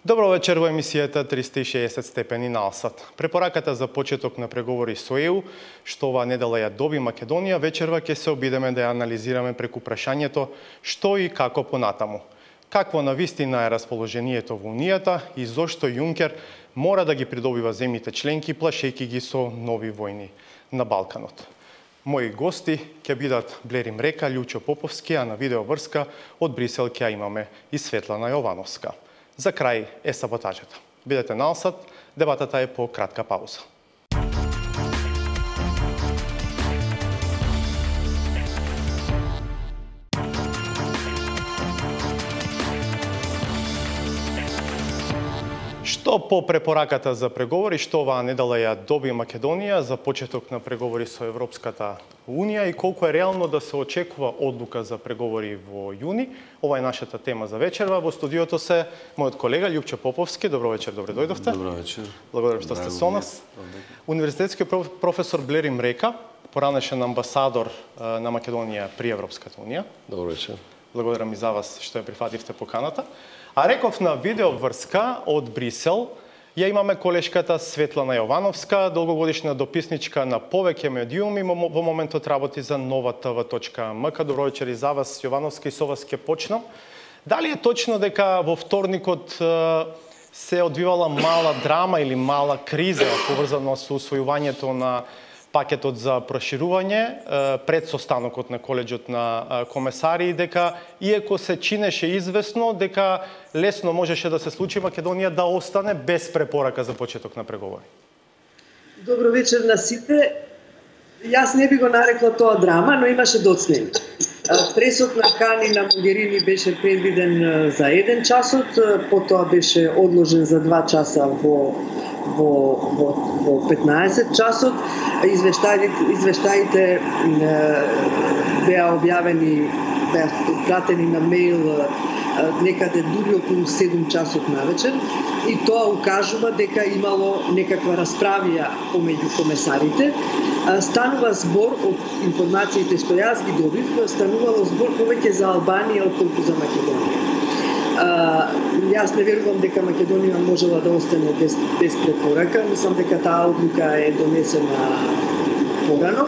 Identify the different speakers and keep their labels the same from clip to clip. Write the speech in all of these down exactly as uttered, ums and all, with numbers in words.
Speaker 1: Добро вечер во емисијата триста и шеесет степени на Алсат. Препораката за почеток на преговори со Е У, што оваа недела ја доби Македонија, вечерва ќе се обидеме да ја анализираме преку прашањето што и како понатаму. Какво навистина е расположението во Унијата и зошто Јункер мора да ги придобива земјите членки, плашејќи ги со нови војни на Балканот. Мои гости ќе бидат Блерим Река, Лјупчо Поповски, а на видеоврска од Брисел ќе имаме и Светлана Јовановска. За крај е саботажата. Бидете на Алсат, дебатата е по кратка пауза. Што по препораката за преговори, што оваа недела ја доби Македонија за почеток на преговори со Европската Унија и колку е реално да се очекува одлука за преговори во јуни. Ова е нашата тема за вечерва. Во студиото се мојот колега Лјупчо Поповски. Добро вечер, добре дојдовте.
Speaker 2: Добро вечер.
Speaker 1: Благодарам што сте со нас. Универзитетски професор Блерим Река, поранешен амбасадор на Македонија при Европската Унија.
Speaker 2: Добро вечер.
Speaker 1: Благодарам и за вас што ја прифативте поканата. А реков на видеоврска од Брисел, ја имаме колешката Светлана Јовановска, долгогодишна дописничка на повеќе медиуми, во моментот работи за нова те ве точка ем ка. Добро вечер и за вас, Јовановска, и со вас ќе почнам. Дали е точно дека во вторникот се одвивала мала драма или мала криза поврзана со усвојувањето на пакетот за проширување пред состанокот на колеџот на комесари, дека иако се чинеше известно дека лесно можеше да се случи Македонија да остане без препорака за почеток на преговори?
Speaker 3: Добро вечер на сите. Јас не би го нарекла тоа драма, но имаше доцнени. Пресот на Кани на Могерини беше предвиден за еден часот, потоа беше одложен за два часа во во во, во петнаесет часот. Извештаите извештаите беа објавени, беа пратени на мејл некаде дури околу седум часот навечер, и тоа укажува дека имало некаква расправија помеѓу комесарите. Станува збор од информациите што јас ги добив, станувало збор повеќе за Албанија отколку за Македонија. Uh, јас не верувам дека Македонија можела да остане без, без препорака. Мислам дека таа одлука е донесена порано.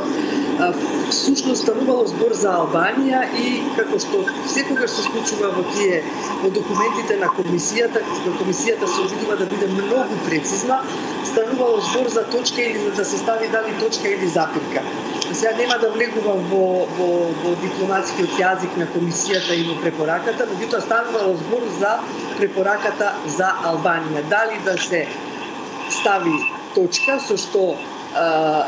Speaker 3: Uh, Всушност станувало збор за Албанија и како што секогаш се случува во тие во документите на комисијата, на комисијата се обидува да биде многу прецизна, станувало збор за точка или да се стави дали точка или запирка. Сега нема да влегувам во, во, во дипломатскиот јазик на комисијата и во препораката, меѓутоа станувало збор за препораката за Албанија. Дали да се стави точка со што а,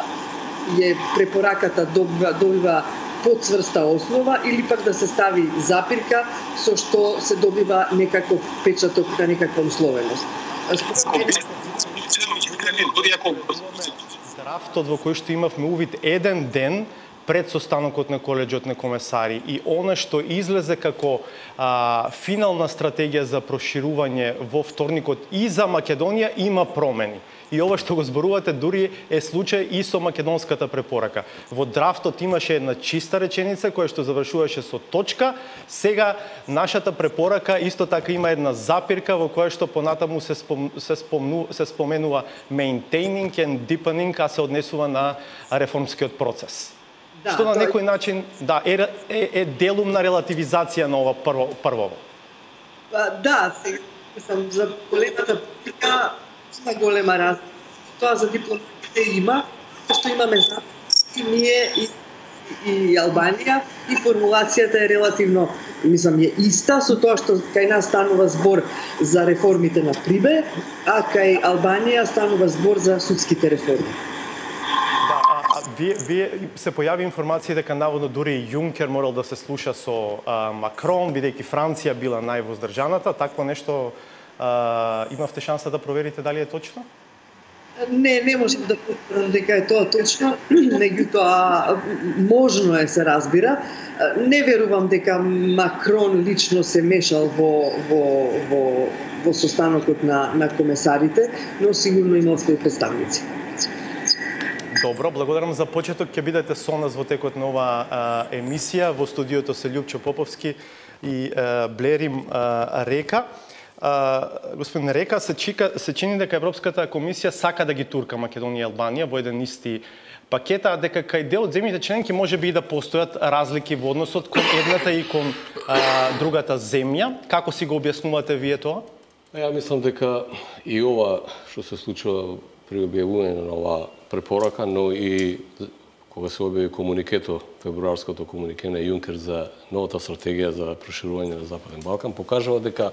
Speaker 3: е препораката добива, добива подцврста основа, или пак да се стави запирка со што се добива некаков печаток на некаква условеност.
Speaker 1: Драфтот во кој што имавме увид еден ден пред состанокот на колеџот на комесари и она што излезе како а, финална стратегија за проширување во вторникот и за Македонија има промени. И ова што го зборувате дури е случај и со македонската препорака. Во драфтот имаше една чиста реченица која што завршуваше со точка. Сега нашата препорака исто така има една запирка во која што понатаму се, спом, се, спомну, се споменува maintaining and deepening, а се однесува на реформскиот процес. Да, што на тој... некој начин да, е, е, е делум на релативизација на ова прво, првово.
Speaker 3: Да, сам за големата пика има голема разлика. Тоа за дипломатите има, што имаме за и ние и, и Албанија, и формулацијата е релативно, мислам, е иста со тоа што кај нас станува збор за реформите на Прибе, а кај Албанија станува збор за судските реформи.
Speaker 1: Вие, вие се појави информација дека наводно дури Јункер морал да се слуша со а, Макрон, бидејќи Франција била највоздржаната. Такво нешто а, имавте шанса да проверите дали е точно?
Speaker 3: Не, не можам да потврдам дека е тоа точно, меѓутоа можно е, се разбира. Не верувам дека Макрон лично се мешал во во во во состанокот на на комесарите, но сигурно има свои представници.
Speaker 1: Добро, благодарам за почеток. Ќе бидете со нас во текот на оваа емисија. Во студиото се Лјупчо Поповски и а, Блерим а, Река. Uh, господин Река, се, чика, се чини дека Европската комисија сака да ги турка Македонија и Албанија во еден исти пакет, а дека кај дел од земјите членки може би и да постојат разлики во односот кон едната и кон uh, другата земја. Како си го објаснувате вие тоа?
Speaker 2: Ја мислам дека и ова што се случува при објавување на оваа препорака, но и кога се објави комуникето, февруарското комунике на Јункер за новата стратегија за проширување на Западен Балкан, покажува дека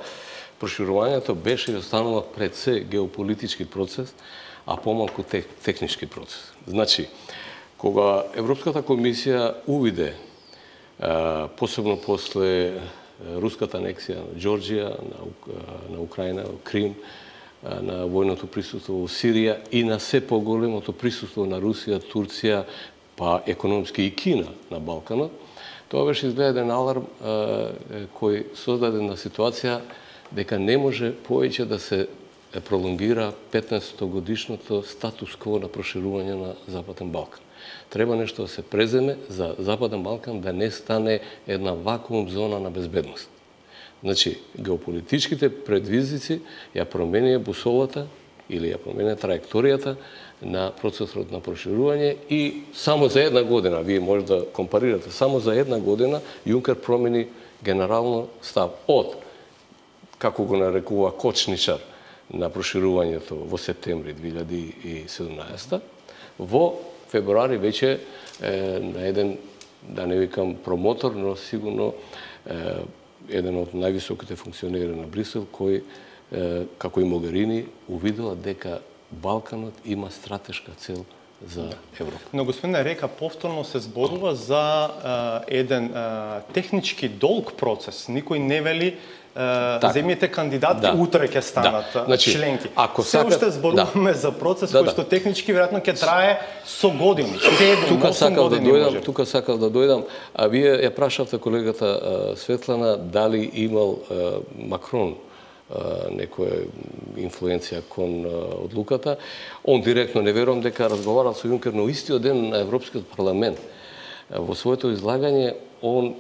Speaker 2: проширувањето беше и останува пред се геополитички процес, а помалку тех, технички процес. Значи, кога Европската комисија увиде, посебно после руската анексија на Џорџија, на, на Украина, Крим, на војното присуство во Сирија и на се поголемото присуство на Русија, Турција, па економски и Кина на Балканот, тоа беше изгледа еден аларм кој создаде на ситуација дека не може повеќе да се пролонгира петнаесетто годишното статус кво на проширување на Западен Балкан. Треба нешто да се преземе за Западен Балкан да не стане една вакуум зона на безбедност. Значи, геополитичките предвизвици ја променија бусолата или ја променија траекторијата на процесот на проширување и само за една година, вие може да компарирате, само за една година Јункер промени генерално став од, како го нарекува, кочничар на проширувањето во септември две илјади и седумнаесетта, во февруари веќе е, на еден, да не викам промотор, но сигурно е, еден од највисоките функционери на Брисел, кој, е, како и Могерини, увидела дека Балканот има стратешка цел за Европа.
Speaker 1: Но господин Река повторно се зборува за е, еден е, технички долг процес. Никој не вели Uh, земјите кандидати да. Утре ќе станат да. Значи, членки. Ако се сакат, уште зборуваме да. За процес да, кој што да. Технички веројатно ќе трае со години, седум осум години
Speaker 2: да дојдам,
Speaker 1: може.
Speaker 2: Тука сакав да дојдам, а вие ја прашавте колегата а, Светлана дали имал а, Макрон а, некоја инфлуенција кон а, одлуката. Он директно не верувам дека разговарал со Јункер, но истиот ден на Европскиот парламент а, во своето излагање он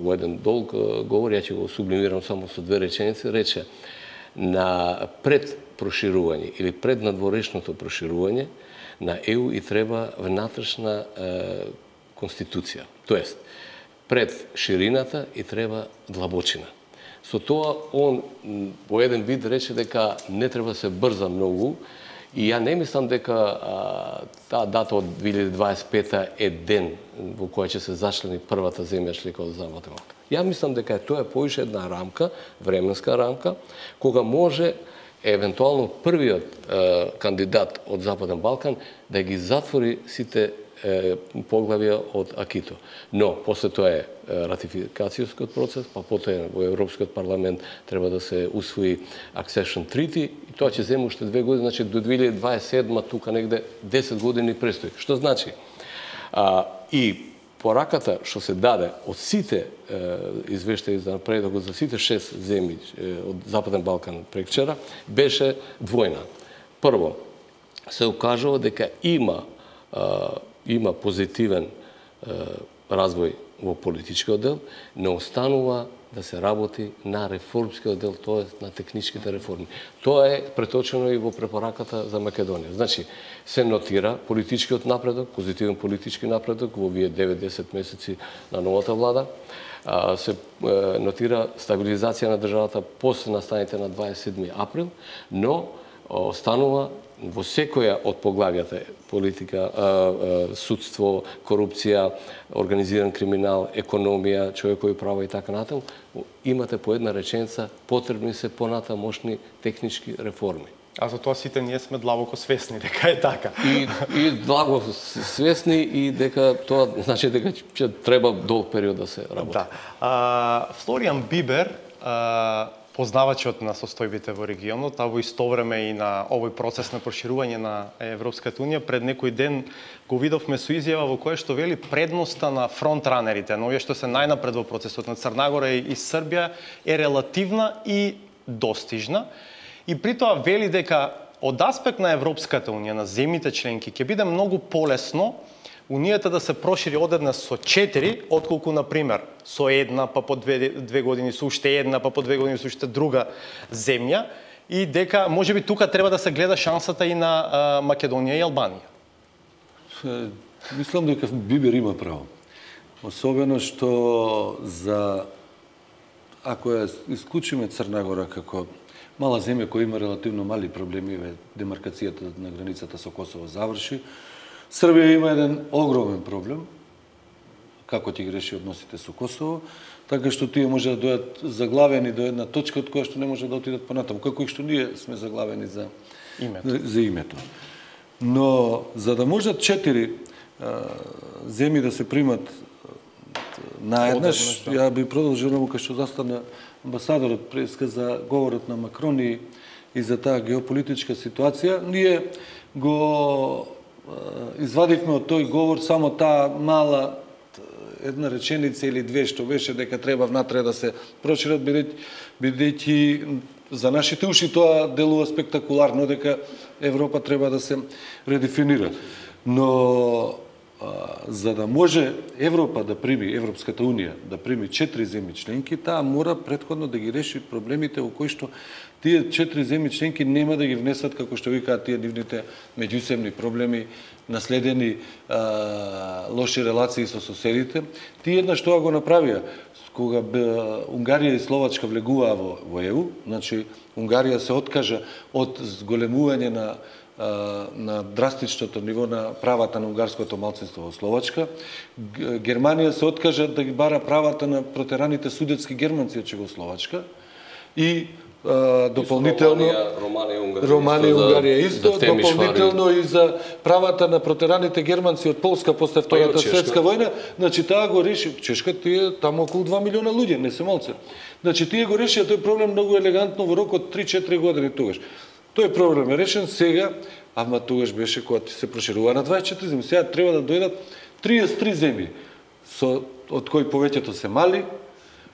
Speaker 2: во еден долг говор, ја ќе го сублимирам само со две реченици, рече на пред проширување или пред надворешното проширување на Е У и треба внатрешна е, конституција. Тоест, пред ширината и треба длабочина. Со тоа он во еден вид рече дека не треба се брза многу и ја не мислам дека а, таа дата од две илјади дваесет и пета е ден во која ќе се зачлени првата земја члека од Западен Балкан. Ја мислам дека тоа е поише една рамка, временска рамка, кога може евентуално првиот е, кандидат од Западен Балкан да ги затвори сите е, поглавја од Акито. Но, после тоа е ратификацијскиот процес, па потоа во Европскиот парламент треба да се усвои Accession Treaty и тоа ќе земе уште две години, значи до две илјади дваесет и седма тука негде десет години престои. Што значи? А, и пораката што се даде од сите извештаи за напредокот за сите шест земји од Западен Балкан прекчера беше двојна. Прво, се укажува дека има а, има позитивен а, развој во политичкиот дел, не останува да се работи на реформскиот дел, тоа е на техничките реформи. Тоа е преточено и во препораката за Македонија. Значи, се нотира политичкиот напредок, позитивен политички напредок во овие девет-десет месеци на новата влада. Се нотира стабилизација на државата после настаните на дваесет и седми април, но останува во секоја од поглавјата политика, судство, корупција, организиран криминал, економија, човекови права и така натаму, имате по една реченица, потребни се понатамошни технички реформи.
Speaker 1: А за тоа сите ние сме длабоко свесни дека е така.
Speaker 2: И, и длабоко свесни и дека тоа значи дека ќе треба долг период да се работи.
Speaker 1: Да. А, Флориан Бибер, а, познавачот на состојбите во регионот, а во исто време и на овој процес на проширување на Европската унија, пред некој ден го видовме со изјава во која што вели предноста на фронтранерите, но овие што се најнапред во процесот на Црна Гора и Србија е релативна и достижна. И при тоа вели дека од аспект на Европската унија, на земјите членки, ќе биде многу полесно Унијата да се прошири од една со четири, отколку, например, со една, па по две, две години со уште една, па по две години со уште друга земја, и дека, може би, тука треба да се гледа шансата и на а, Македонија и Албанија.
Speaker 4: Мислам дека Бибер има право. Особено што за, ако ја исклучиме Црна Гора како мала земја која има релативно мали проблеми, демаркацијата на границата со Косово заврши, Србија има еден огромен проблем, како ќе ги реши односите со Косово, така што тие може да дојдат заглавени до една точка од која што не може да отидат понатаму, како и што ние сме заглавени за името. За името. Но за да можат четири земји да се примат наеднаш, ја би продолжил кај што застана амбасадорот преска за говорот на Макрон и, и за таа геополитичка ситуација. Ние го извадивме од тој говор само таа мала една реченица или две што беше дека треба внатре да се прошират, бидејќи за нашите уши тоа делува спектакуларно дека Европа треба да се редефинира. Но за да може Европа да прими, Европската Унија да прими четири земји членки, таа мора претходно да ги реши проблемите во кои што тие четири земји членки нема да ги внесат, како што викаат тие нивните меѓусебни проблеми, наследени а, лоши релации со соседите. Тие еднаш тоа го направија. Кога Унгарија и Словачка влегуваа во, во ЕУ, значи Унгарија се откажа од зголемување на на драстичното ниво на правата на унгарското малцинство во Словачка. Германија се откажа да ги бара правата на протераните судетски германци од Чегословачка и а, дополнително
Speaker 2: Романија,
Speaker 4: Романија и Унгарија исто, да дополнително и за правата на протераните германци од Полска после Втората светска војна. Значи таа го реши, Чешка тие таму околу два милиона луѓе, не се малце. Значи тие го решија тој проблем многу елегантно во рок од три-четири години тогаш. Тој проблем е решен сега, ама тогаш беше кога се проширува на дваесет и четири земји. Сега треба да дојдат триесет и три земји, со, од кои повеќето се мали,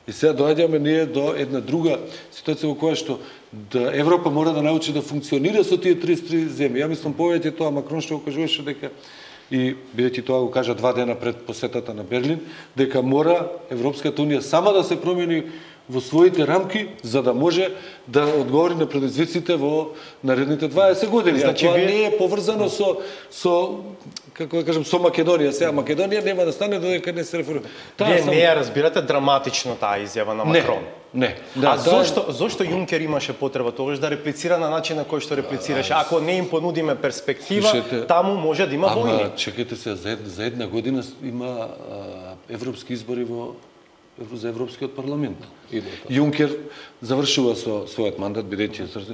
Speaker 4: и сега доаѓаме ние до една друга ситуација во која што да Европа мора да научи да функционира со тие триесет и три земји. Ја мислам повеќе тоа Макрон што го кажуваше дека, и бидејќи тоа го кажа два дена пред посетата на Берлин, дека мора Европската Унија сама да се промени во своите рамки, за да може да одговори на предизвиците во наредните дваесет години. Значи, тоа не е поврзано со, со како да кажем, со Македонија. Сега Македонија нема да стане додека не се реформира.
Speaker 1: Вие сам... не ја разбирате драматично таа изјава на Макрон.
Speaker 4: Не. не. Да,
Speaker 1: а зошто, зошто Јункер имаше потреба тогаш да реплицира на начин на кој што реплицираше? Ако не им понудиме перспектива, Слушайте, таму може да има
Speaker 4: ама,
Speaker 1: војни.
Speaker 4: Ама, чекайте се, за една, за една година има а, европски избори во за Европскиот парламент. Јункер завршува со својот мандат, бидејќи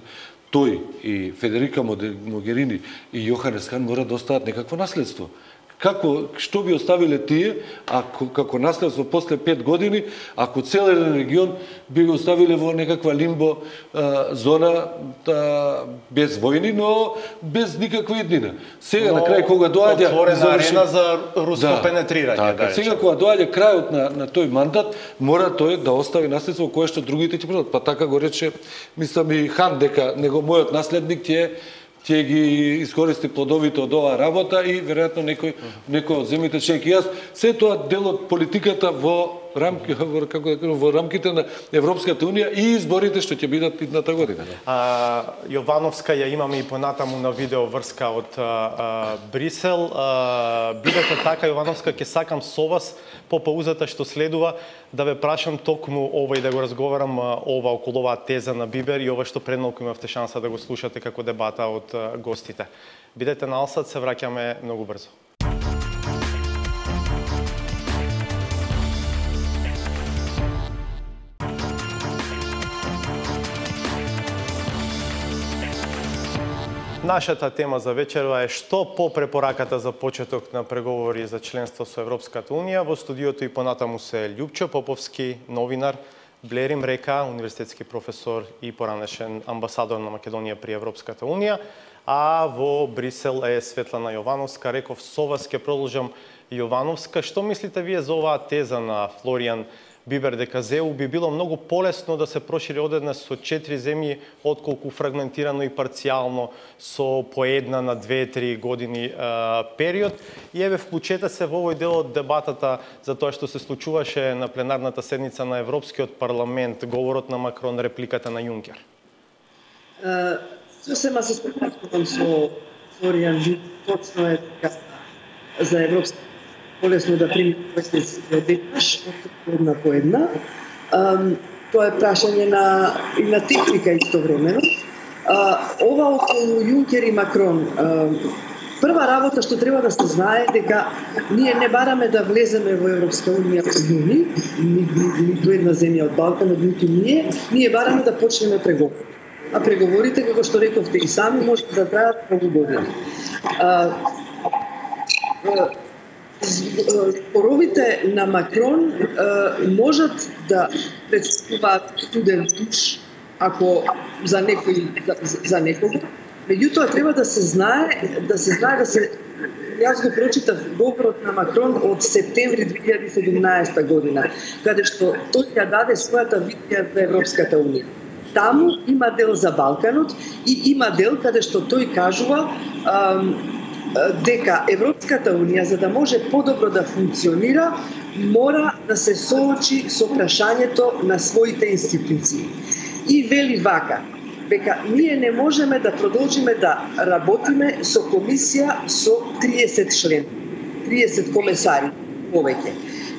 Speaker 4: тој и Федерика Могерини и Јоханес Хан мора да остават некакво наследство. Како, што би оставиле тие, ако, како наследство после пет години, ако цел еден регион би го оставиле во некаква лимбо а, зона а, без војни, но без никаква иднина. Сега но, на крај кога доаѓа
Speaker 1: отворена заврши... арена за руско да, пенетрирање.
Speaker 4: Така, да сега кога доаѓа крајот на, на тој мандат, мора тој да остави наследство кое што другите ќе продадат. Па така го рече, мислам и Хан, дека него мојот наследник ќе ќе ги искористи плодовите од оваа работа и веројатно некој некој од земјите членки. Јас се тоа дел од политиката во рамки во како да кажам во рамките на Европската Унија и изборите што ќе бидат идната година.
Speaker 1: А, Јовановска ја имаме и понатаму на видео врска од а, а, Брисел. А, бидете така, Јовановска, ќе сакам со вас по паузата што следува да ве прашам токму ова и да го разговарам ова околу оваа теза на Бибер и ова што предмалку имавте шанса да го слушате како дебата од гостите. Бидете на Алсат, се враќаме многу брзо. Нашата тема за вечерва е што по препораката за почеток на преговори за членство со Европската Унија. Во студиото и понатаму се Љупчо Поповски, новинар, Блерим Река, универзитетски професор и поранешен амбасадор на Македонија при Европската Унија, а во Брисел е Светлана Јовановска. Реков, со вас ќе продолжам. Јовановска, што мислите вие за оваа теза на Флоријан Бибер дека ЗЕУ би било многу полесно да се прошири одеднаш со четири земји, отколку фрагментирано и парцијално со по една на две-три години е, период. И еве вклучете се во овој дел од дебатата за тоа што се случуваше на пленарната седница на Европскиот парламент, говорот на Макрон, репликата на Јункер.
Speaker 3: Сосема се споменувам со Флоријан, точно е така за Европска полесно да прими инвестиции одеднаш, една по една. Тоа е прашање на и на техника истовремено. Ова околу Јункер и Макрон, прва работа што треба да се знае дека ние не бараме да влеземе во Европска унија во јуни, ниту една земја од Балканот, ниту ние, ние бараме да почнеме преговори. А преговорите, како што рековте и сами, може да траат многу години. Зборовите на Макрон можат да представуваат студен туш, ако за некој за, за некого. Меѓутоа треба да се знае, да се знае да се Јас го прочитав говорот на Макрон од септември две илјади и седумнаесета година, каде што тој ја даде својата визија за Европската унија. Таму има дел за Балканот и има дел каде што тој кажува ам, дека Европската унија, за да може подобро да функционира, мора да се соочи со прашањето на своите институции. И вели вака, дека ние не можеме да продолжиме да работиме со комисија со триесет член, триесет комесари повеќе.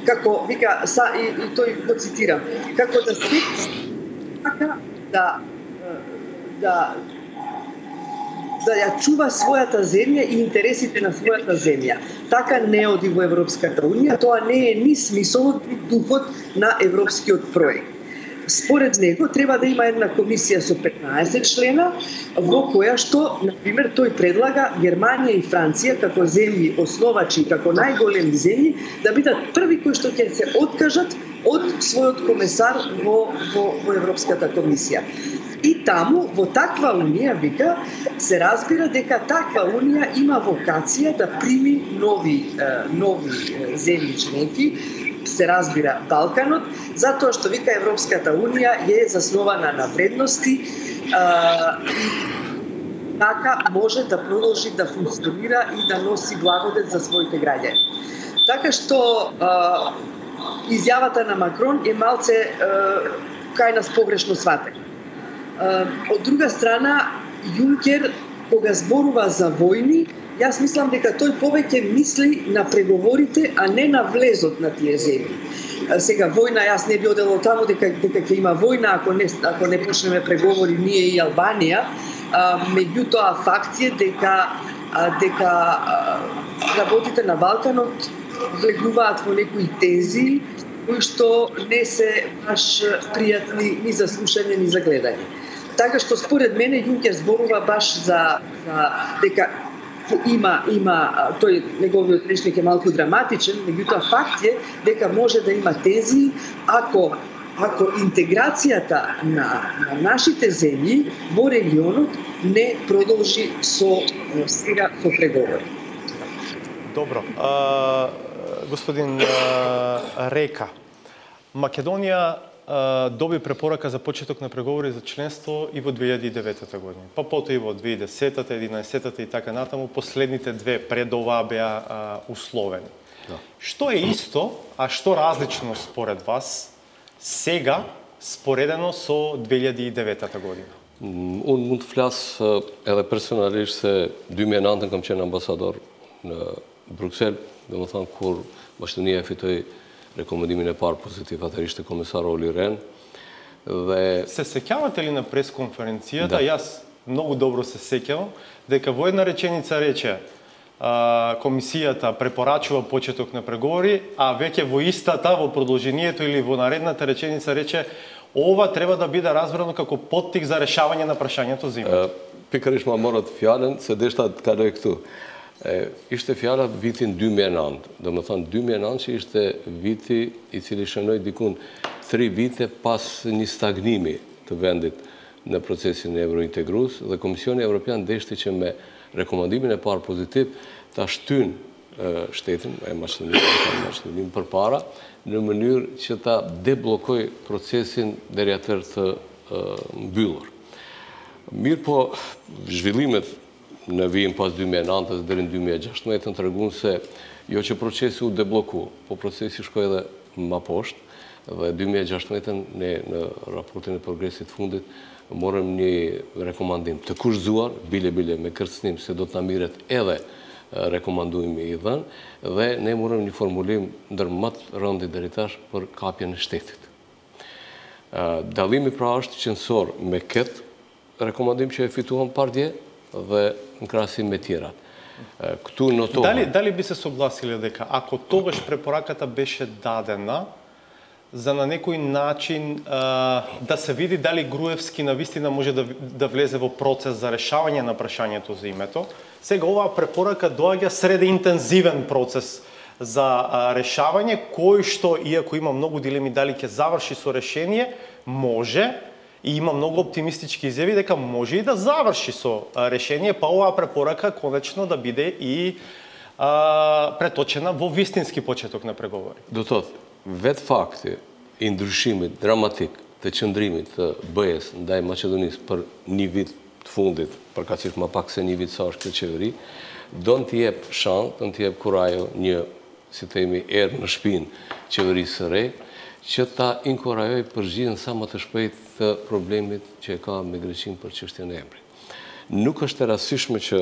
Speaker 3: Како вика са и, и тој го цитирам, како да се така да да да ја чува својата земја и интересите на својата земја. Така не оди во Европската унија, тоа не е ни смисолот ни духот на европскиот проект. Според него треба да има една комисија со петнаесет члена, во која што, например, тој предлага Германија и Франција како земји основачи, како најголеми земји, да бидат први кои што ќе се откажат од својот комесар во, во, во Европската комисија. И таму, во таква унија, вика, се разбира дека таква унија има вокација да прими нови, нови земји членки, се разбира Балканот, затоа што вика Европската унија е заснована на вредности а, и така може да продолжи да функционира и да носи благодет за своите граѓани. Така што а, изјавата на Макрон е малце а, кај нас погрешно сватена. Од друга страна, Јункер, кога зборува за војни, јас мислам дека тој повеќе мисли на преговорите, а не на влезот на тие земји. Сега, војна, јас не би одела таму дека, дека ќе има војна, ако не, ако не почнеме преговори ние и Албанија, меѓутоа факт е дека, дека работите на Балканот влегуваат во некои тензии, кои што не се баш пријатни ни за слушање, ни за гледање. Така што според мене Јункер зборува баш за, за дека има има тој неговиот речник е малку драматичен, меѓутоа факт е дека може да има тензии ако ако интеграцијата на, на нашите земји во регионот не продолжи со сега со преговори.
Speaker 1: Добро. А, господин а, Река, Македонија а, доби препорака за почеток на преговори за членство и во две илјади и деветта година. Па потоа и во две илјади и десетта, единаесетта и така натаму, последните две пред оваа беа а, условени. Да. Што е исто, а што различно според вас сега споредено со две илјади и деветта година?
Speaker 2: Unë mund të flas edhe personalisht se dy mijë e nëntë kam qenë ambasador në Bruxelles, domethënë kur Maqedonia e fitoi rekomendimin e parë pozitiv, atëherë ishte komesar Olli Rehn. Dhe
Speaker 1: се сеќавате ли на пресконференцијата? Да. Јас многу добро се сеќавам дека во една реченица рече а, комисијата препорачува почеток на преговори, а веќе во истата, во продолжението или во наредната реченица рече ова треба да биде разбрано како поттик за решавање на прашањето за имот.
Speaker 2: Pikërisht ma morët fjalën se deshta të kaloj këtu. E, ishte fjala vitin dy mijë e nëntë. Do më thënë dy mijë e nëntë që ishte viti i cili shënoi dikun tri vite pas një stagnimi të vendit në procesin e eurointegrues dhe Komisioni Evropian deshti që me rekomandimin e parë pozitiv ta shtyn shtetin, e Maqedonisë, Maqedoninë përpara, në mënyrë që ta deblokoj procesin deri atëherë të mbyllur. Mirë po, zhvillimet në vijin pas dy mijë e nëntës deri në dy mijë e gjashtëmbëdhjetë tregon se jo që procesi u debloku, po procesi shkoi edhe më poshtë dhe dy mijë e gjashtëmbëdhjetë ne në raportin e progresit fundit morëm një rekomandim të kushzuar, bile bile me kërcënim se do të na mirret edhe rekomandimi i dhënë dhe ne morëm një formulim ndër më të rëndit deri tash për kapjen e shtetit. Dallimi pra është qendror me këtë rekomandim që e fituam pardje dhe në krahasim me tjerat. Këtu notohem.
Speaker 1: Дали дали би се согласиле дека ако тогаш препораката беше дадена за на некој начин а, да се види дали Груевски навистина може да, да влезе во процес за решавање на прашањето за името. Сега оваа препорака доаѓа среде интензивен процес за а, решавање, кој што, иако има многу дилеми дали ќе заврши со решение, може, и има многу оптимистички изјави дека може и да заврши со а, решение, па оваа препорака конечно да биде и а, преточена во вистински почеток на преговори.
Speaker 2: Do thot, vetë fakti i ndryshimit dramatik të qëndrimit të B E-s ndaj Maqedonisë për një vit të fundit, përkatësisht më pak se një vit sa është kjo qeveri, do në t'jep shans, do në t'jep kurajo një, si themi, erë në shpinë qeverisë së re, që ta inkurajoj përgjigjen sa më të shpejt të problemit që e ka me Greqinë për çështjen e emrit. Nuk është e rastishme që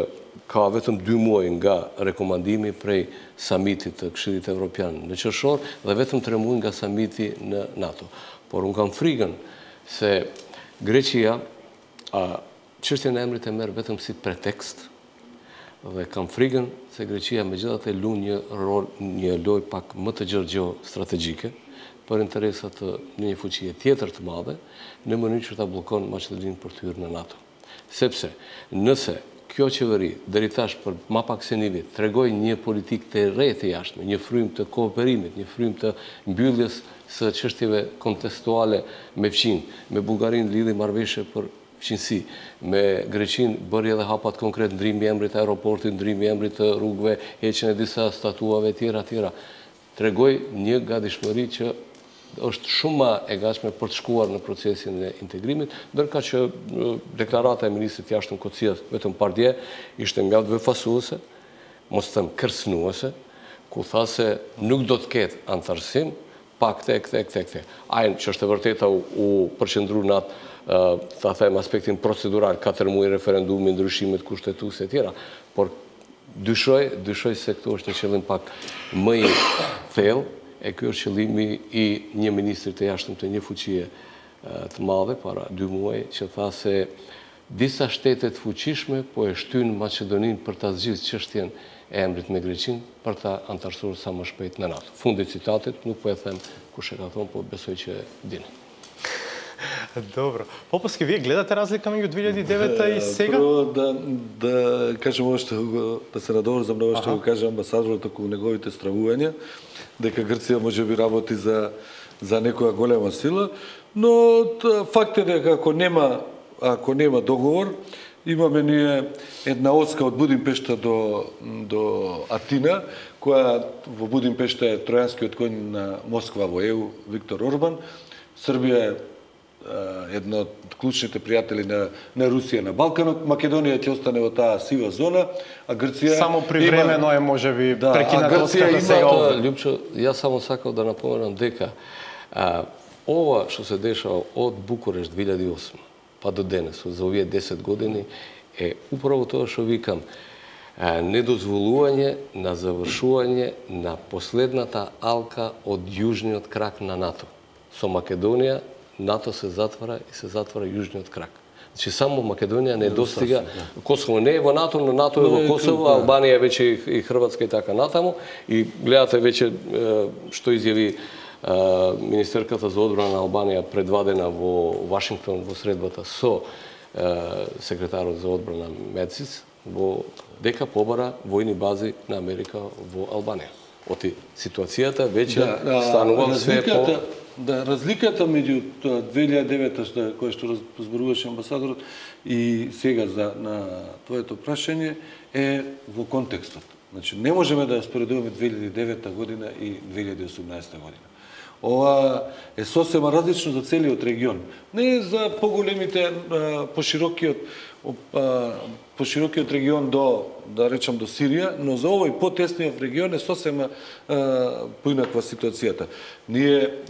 Speaker 2: ka vetëm dy muaj nga rekomandimi prej samitit të Këshillit Evropian në qershor dhe vetëm tre muaj nga samiti në NATO. Por unë kam frikën se Greqia çështjen e emrit e merr vetëm si pretekst dhe kam frikën se Greqia megjithatë lun një rol, një lojë pak më të gjergjë strategjike për interesat të një fuqie tjetër të madhe në mënyrë që ta bllokon Maqedoninë për të hyrë në NATO. Sepse nëse kjo qeveri deri tash për më pak se një vit tregoi një politikë të re të jashtme, një frym të kooperimit, një frym të mbylljes së çështjeve kontestuale me fqin, me Bullgarinë lidhi marrëveshje për fqinësi, me Greqinë bëri edhe hapat konkret, ndrimi i emrit të aeroportit, ndrimi i emrit të rrugëve, heqjen e disa statuave tjera tjera. Tregoi një gatishmëri që është shumë më e gatshme për të shkuar në procesin e integrimit, ndërka që deklarata e ministrit të jashtëm Kocias vetëm pardje ishte mjaft befasuese, mos të them kërcënuese, ku tha se nuk do të ketë antarësim pa këte, këte, këte, këte. Ajnë që është e vërteta u, u përqendru në atë, uh, ta them aspektin procedural, katër muaj referendumi, ndryshimet kushtetuese e tjera, por dyshoj, dyshoj se këtu është një qëllim pak më i thellë. E kjo është qëllimi i një ministrit të jashtëm të një fuqie të madhe, para dy muaj, që tha se disa shtetet fuqishme po e shtyn Maqedoninë për ta zgjidhur çështjen e emrit me Greqinë për ta antarësuar sa më shpejt në NATO. Fundi i citatit, nuk po e them kush e ka thonë, po besoj që dini.
Speaker 1: Добро. Попоски, вие гледате разлика меѓу две илјади и девета и сега?
Speaker 4: Прво да, да кажем ошто, да се надоврзам на ова што го каже амбасадорот околу неговите стравувања, дека Грција може би работи за, за некоја голема сила, но факт е дека ако нема, ако нема договор, имаме ние една оска од Будимпешта до, до Атина, која во Будимпешта е тројанскиот конј на Москва во Е У, Виктор Орбан. Србија е едно од клучните пријатели на, на Русија на Балканот. Македонија ќе остане во таа сива зона, а Грција
Speaker 1: само привремено е можеби да, прекинато
Speaker 4: оската
Speaker 1: сега овде.
Speaker 2: Ljupço, ja samo sakao da napomenem дека а, ова што се дешава од Букурешт две илјади и осма па до денес, за овие десет години, е управо тоа што викам, а, недозволување на завршување на последната алка од јужниот крак на НАТО. Со Македонија НАТО се затвара и се затвара јужниот крак. Значи само Македонија не достига, Косово не е во НАТО, но НАТО е во Косово, Албанија е веќе и Хрватска и така натаму, и гледате веќе што изјави министерката за одбрана на Албанија предвадена во Вашингтон во средбата со секретарот за одбрана Медсис, во дека побара војни бази на Америка во Албанија. Оти ситуацијата веќе да, станува све по...
Speaker 4: Да, разликата меѓу две илјади и девета што кој што зборуваше амбасадорот и сега за на твоето прашање е во контекстот. Значи, не можеме да ја споредуваме две илјади и девета година и две илјади и осумнаесета година. Ова е сосема различно за целиот регион. Не за поголемите, поширокиот, поширокиот регион до, да речам, до Сирија, но за овој потесниот регион е сосема поинаква ситуацијата. Ние,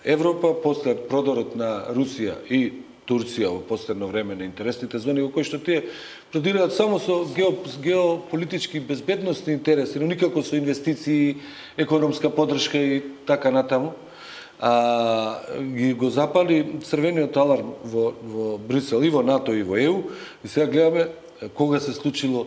Speaker 4: Европа, после продорот на Русија и Турција во последно време на интересните зони, во кои што тие продираат само со геополитички безбедносни интереси, но никако со инвестиции, економска поддршка и така натаму, а, ги го запали црвениот аларм во, во Брисел и во НАТО и во Е У, и сега гледаме кога се случило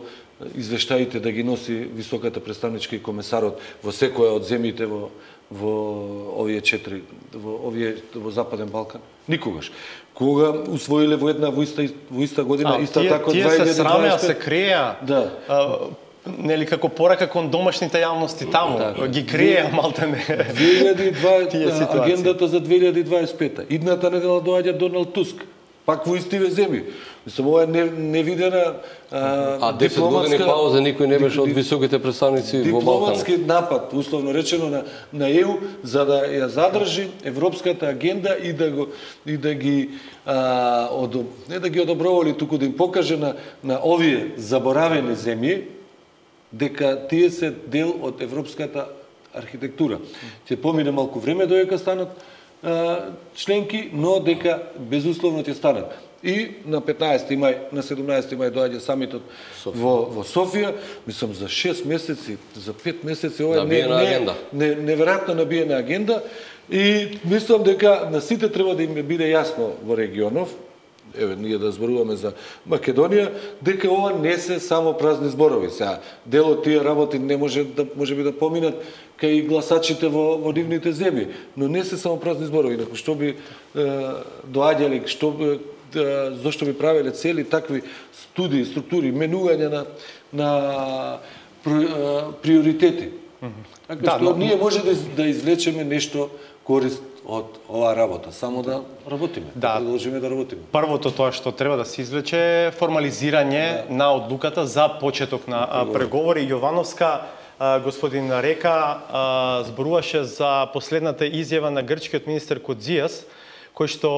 Speaker 4: извештаите да ги носи високата представничка и комесарот во секоја од земјите во во овие четири, во овие во Западен Балкан. Никогаш. Кога усвоиле во една во иста, во иста година, а, иста
Speaker 1: тие,
Speaker 4: така
Speaker 1: тие се срамеа, се креа.
Speaker 4: Да.
Speaker 1: А, нели како порака кон домашните јавности таму, да, ги креа малтене.
Speaker 4: две илјади и дваесета агендата за две илјади и дваесет и пета. Идната недела доаѓа Доналд Туск, пак во истиве земји. Мислам, ова е невидена а,
Speaker 2: а десет години пауза никој не беше од високите представници во Балкан.
Speaker 4: Дипломатски напад, условно речено, на, на Е У, за да ја задржи европската агенда и да го и да ги а, од, не да ги одобровали, туку да им покаже на на овие заборавени земји дека тие се дел од европската архитектура. Ќе помине малку време додека станат а, членки, но дека безусловно ќе станат. И на петнаесети мај, на седумнаесети мај доаѓа самитот во, во Софија, мислам за шест месеци, за пет месеци, ова е не, не, не, неверојатно набиена агенда и мислам дека на сите треба да им биде јасно во регионов, еве ние да зборуваме за Македонија, дека ова не се само празни зборови. Сега дел од тие работи не може да можеби да поминат кај гласачите во, во нивните земји, но не се само празни зборови. Инаку што би е, доаѓали, што би зошто би правеле цели такви студии, структури, менување на на приоритети. Така да, што но... ние може да, да извлечеме нешто корист од оваа работа, само да работиме, да, да продолжиме да работиме.
Speaker 1: Првото тоа што треба да се извлече е формализирање да. на одлуката за почеток на преговори. преговори. Јовановска, господин Река, зборуваше за последната изјава на грчкиот министер Кодзијас, кој што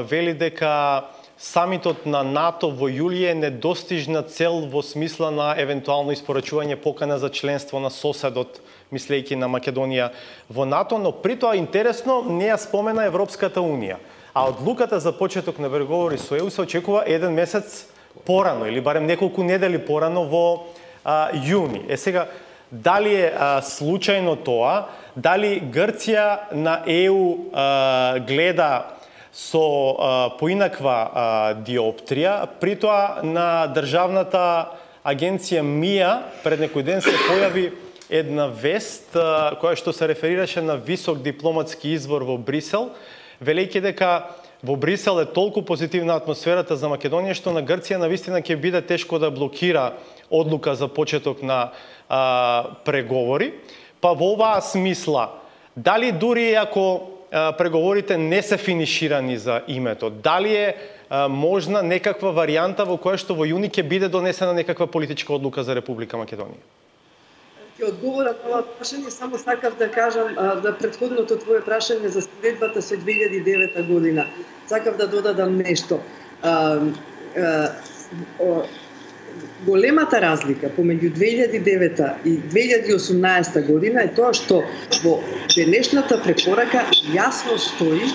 Speaker 1: вели дека самитот на НАТО во јули е недостижна цел во смисла на евентуално испорачување покана за членство на соседот, мислејќи на Македонија во НАТО, но при тоа интересно не ја спомена Европската Унија. А одлуката за почеток на преговори со Е У се очекува еден месец порано или барем неколку недели порано во а, јуни. Е сега, дали е а, случајно тоа, дали Грција на Е У а, гледа со а, поинаква а, диоптрија, при тоа на државната агенција МИА пред некој ден се појави една вест а, која што се реферираше на висок дипломатски извор во Брисел, велејќи дека во Брисел е толку позитивна атмосферата за Македонија што на Грција навистина ќе биде тешко да блокира одлука за почеток на а, преговори. Па во оваа смисла, дали дури ако преговорите не се финиширани за името, дали е а, можна некаква варијанта во која што во јуни ќе биде донесена некаква политичка одлука за Република Македонија?
Speaker 3: Ќе одговорам на ова прашање, само сакав да кажам а, да претходното твое прашање за споредбата со две илјади и девета година. Сакав да додадам нешто. А, а, о, големата разлика помеѓу две илјади и девета и две илјади и осумнаесета година е тоа што во денешната препорака јасно стои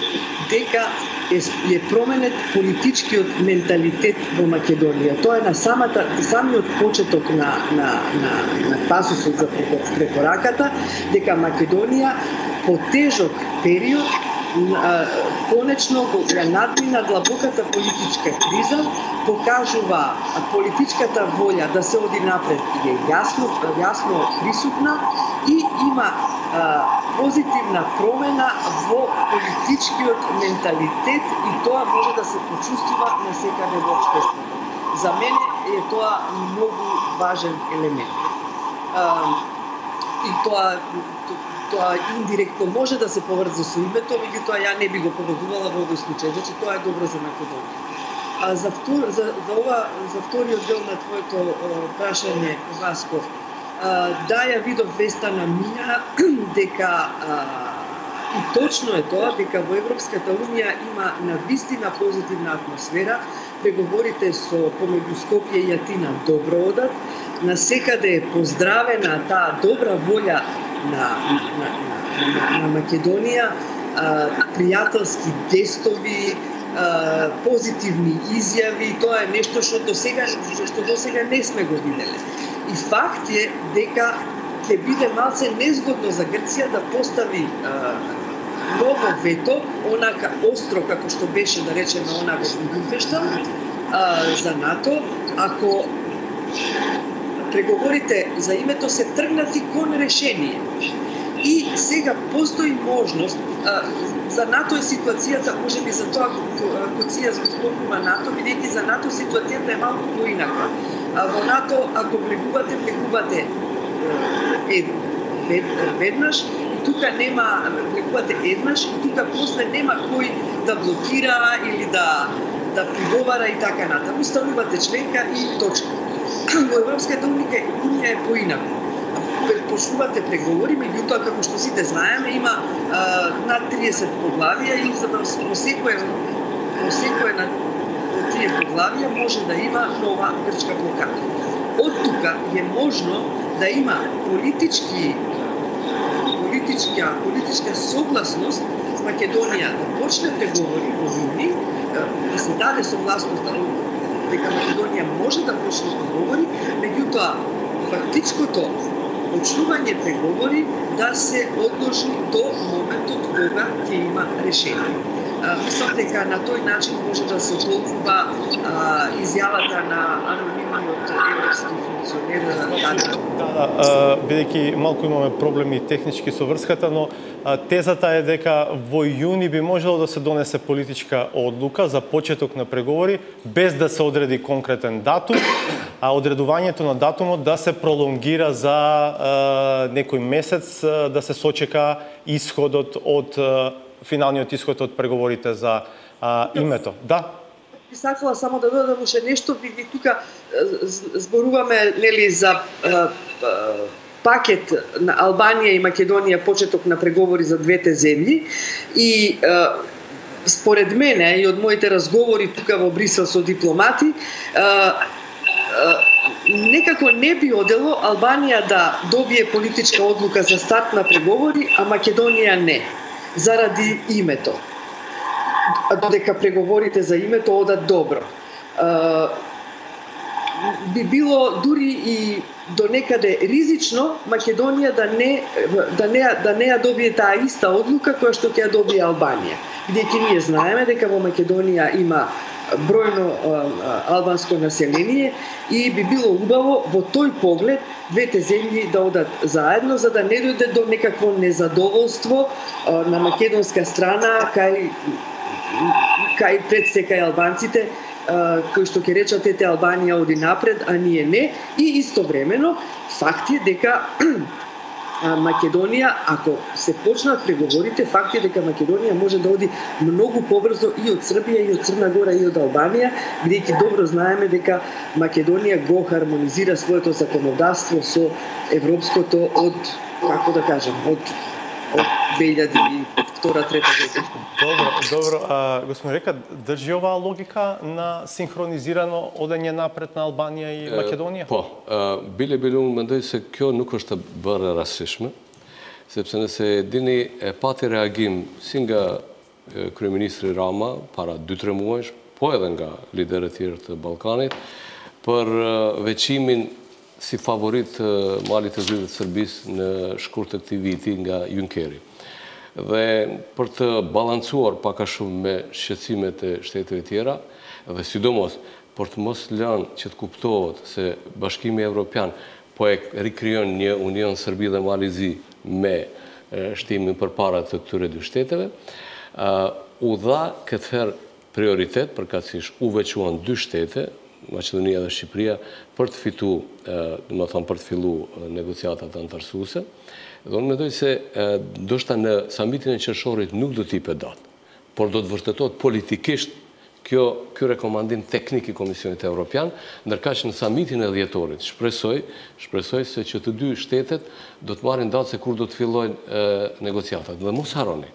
Speaker 3: дека е, е променет политичкиот менталитет во Македонија. Тоа е на самата самиот почеток на на на на пасусот за препораката дека Македонија по тежок период конечно го надмина длабоката политичка криза, покажува политичката волја да се оди напред и е јасно, јасно присутна и има а, позитивна промена во политичкиот менталитет и тоа може да се почувствува насекаде во општеството. За мене е тоа многу важен елемент. А, и тоа тоа индиректно може да се поврза со името, меѓутоа ја не би го поврзувала во овој случај, значи тоа е добро за Македонија. А за втор, за, за ова за вториот дел на твоето прашање, Васко, Да, ја видов веста на Мија дека и точно е тоа дека во Европската унија има навистина позитивна атмосфера. Преговорите со помеѓу Скопје и Атина добро одат. Насекаде е поздравена таа добра волја на, на, на, на Македонија, пријателски тестови, позитивни изјави. Тоа е нешто што до сега што до сега не сме го виделе. И факт е дека ќе биде малце незгодно за Грција да постави а, ново вето, онака остро како што беше, да речеме, она во Будимпешта, за НАТО, ако преговорите за името се тргнати кон решение. И сега постои можност, а, за НАТО е ситуацијата, може би за тоа Коцијас го спомнува НАТО, бидејќи за НАТО ситуацијата е малку поинака. А во НАТО, ако влегувате, влегувате ед, вед, веднаш, и тука нема, влегувате еднаш, и тука после нема кој да блокира или да, да приговара и така натаму. Станувате членка и точка. Во Европската унија е поинако. Почнувате преговори, меѓутоа, како што сите знаеме, има а, над триесет поглавија и за да во секое, во секое на тие поглавија може да има нова грчка блокада. Од тука е можно да има политички, политичка, политичка согласност Македонија да почне преговори во юни, да се даде согласност дека Македонија може да почне преговори, меѓутоа фактичкото почнување преговори да се одложи до моментот кога ќе има решение. Мислам дека на тој начин може да се толкува изјавата на анонимниот европски функционер.
Speaker 1: Да, да, бидејќи малку имаме проблеми технички со врската, но тезата е дека во јуни би можело да се донесе политичка одлука за почеток на преговори без да се одреди конкретен датум, а одредувањето на датумот да се пролонгира за а, некој месец, а, да се сочека исходот од а, финалниот исход од преговорите за а, името. Да.
Speaker 3: Би сакала само да додадам уште нешто, бидејќи тука зборуваме нели за а, а, пакет на Албанија и Македонија, почеток на преговори за двете земји и а, според мене и од моите разговори тука во Брисел со дипломати, а, некако не би одело Албанија да добие политичка одлука за старт на преговори, а Македонија не, заради името. Додека преговорите за името одат добро. Би било дури и до некаде ризично Македонија да не да не да не ја добие таа иста одлука која што ќе ја добие Албанија. Бидејќи ние знаеме дека во Македонија има бројно албанско население и би било убаво во тој поглед двете земји да одат заедно, за да не дојде до некакво незадоволство на македонска страна кај кај пред се кај албанците, кои што ќе речат ете Албанија оди напред, а ние не. И истовремено факт е дека Македонија, ако се почнат преговорите, факт е дека Македонија може да оди многу побрзо и од Србија, и од Црна Гора, и од Албанија, бидејќи добро знаеме дека Македонија го хармонизира своето законодавство со европското од, како да кажам, од од две илјади и втора трета година.
Speaker 1: Добро, добро. А, господин Река, држи оваа логика на синхронизирано одење напред на Албанија и Македонија?
Speaker 2: По, биле биле мендој се kjo nuk është të bërë rastishme, sepse nëse dini e pati reagim si nga kryeministri Rama para dy tre muajsh, po edhe nga liderët tjerë të Ballkanit, për veçimin si favorit malit të zyrit të Serbisë në shkurt të këtij viti nga Junckeri. Dhe për të balancuar pak a shumë me shqetësimet e shteteve tjera, dhe sidomos për të mos lënë që të kuptohet se Bashkimi Evropian po e rikrijon një union Serbi dhe Malizi me shtimin përpara të këtyre dy shteteve, u dha këtë herë prioritet, përkatësisht u veçuan dy shtete, Maqedonia dhe Shqipëria, për të fitu, do të thonë për të fillu negociatat antarësuese. Dhe unë mendoj se ndoshta në samitin e qershorit nuk do t'i jepet datë, por do të vërtetohet politikisht Kjo, kjo rekomandin teknik i Komisionit Evropian, ndërkaq në samitin e dhjetorit, shpresoj, shpresoj se që të dy shtetet do të marrin datë se kur do të fillojnë negociatat. Dhe mos harroni,